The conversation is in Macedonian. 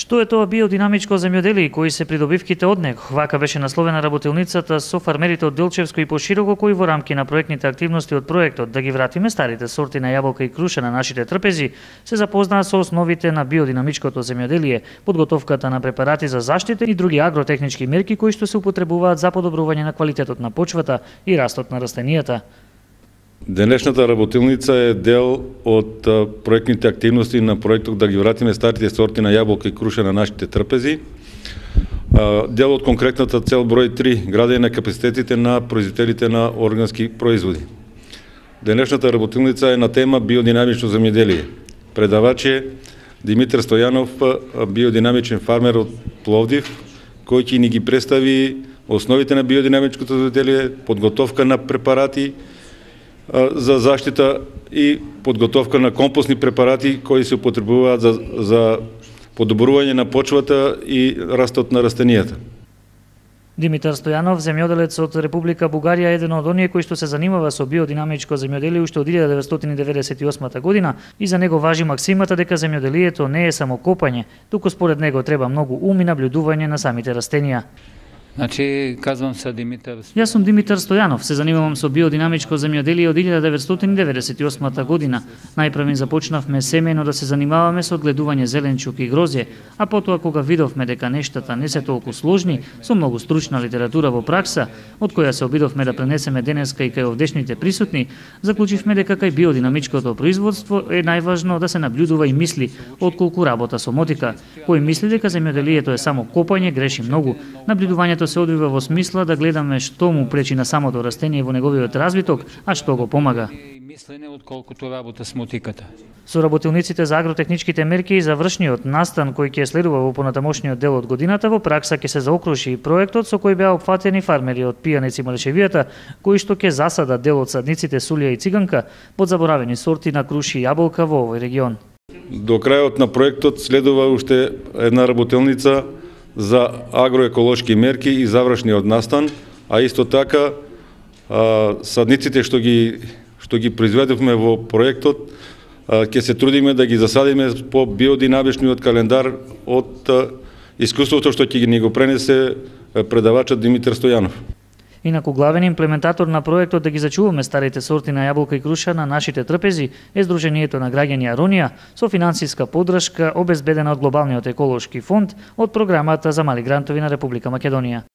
Што е тоа биодинамичко земјоделие и кои се придобивките од него? Вака беше насловена работилницата со фармерите од Делчевско и пошироко, кои во рамки на проектните активности од проектот Да ги вратиме старите сорти на јаболка и круша на нашите трпези, се запознаа со основите на биодинамичкото земјоделие, подготовката на препарати за заштита и други агротехнички мерки кои што се употребуваат за подобрување на квалитетот на почвата и растот на растенијата. Денешната работилница е дел од проектните активности на проектот Да ги вратиме старите сорти на јаболка и круша на нашите трпези. Дел од конкретната цел број 3, градење на капацитетите на производителите на органски производи. Денешната работилница е на тема биодинамично земјоделие. Предавач е Димитар Стојанов, биодинамичен фармер од Пловдив, кој ќе ни ги представи основите на биодинамичкото земјоделие, подготовка на препарати за заштита и подготовка на компостни препарати кои се употребуваат за подобрување на почвата и растот на растенијата. Димитар Стојанов, земјоделец од Република Бугарија, е еден од оние кои што се занимава со биодинамичко земјоделие уште од 1998 година и за него важи максимата дека земјоделието не е само копање, туку според него треба многу ум и наблюдување на самите растенија. Значи, казвам се Димитар. Јас сум Димитар Стојанов, се занимавам со биодинамичко земјоделие од 1998 година. Најпрв започнавме семејно да се занимаваме со одгледување зеленчук и грозје, а потоа кога видовме дека нештата не се толку сложни, со многу стручна литература во пракса, од која се обидовме да пренесеме денеска и кај овдешните присутни, заклучивме дека кај биодинамичкото производство е најважно да се наблюдува и мисли, отколку работа со мотика. Кој мисли дека земјоделието е само копање, греши многу. Наблюдувањето се одвива во смисла да гледаме што му пречи на самото растение во неговиот развиток, а што го помага. Мислене отколкото работа с мотиката. Со работилниците за агротехничките мерки и завршниот настан кој ќе следува во понатамошниот дел од годината, во пракса ќе се заокружи и проектот со кој беа опфатени фармери од Пијанец и Малешевијата, кои што ќе засадат дел од садниците Сулија и Циганка под заборавени сорти на круши и јаболка во овој регион. До крајот на проектот следува уште една работилница за агроеколошки мерки и завршниот настан, а исто така садниците што ги произведовме во проектот, ќе се трудиме да ги засадиме по биодинамичниот календар од искуството што ќе ни го пренесе предавачот Димитар Стојанов. Инаку главен имплементатор на проектот Да ги зачуваме старите сорти на јаболка и круша на нашите трпези е Сдруженијето на граѓани Аронија со финансиска поддршка обезбедена од Глобалниот еколошки фонд од програмата за мали грантови на Република Македонија.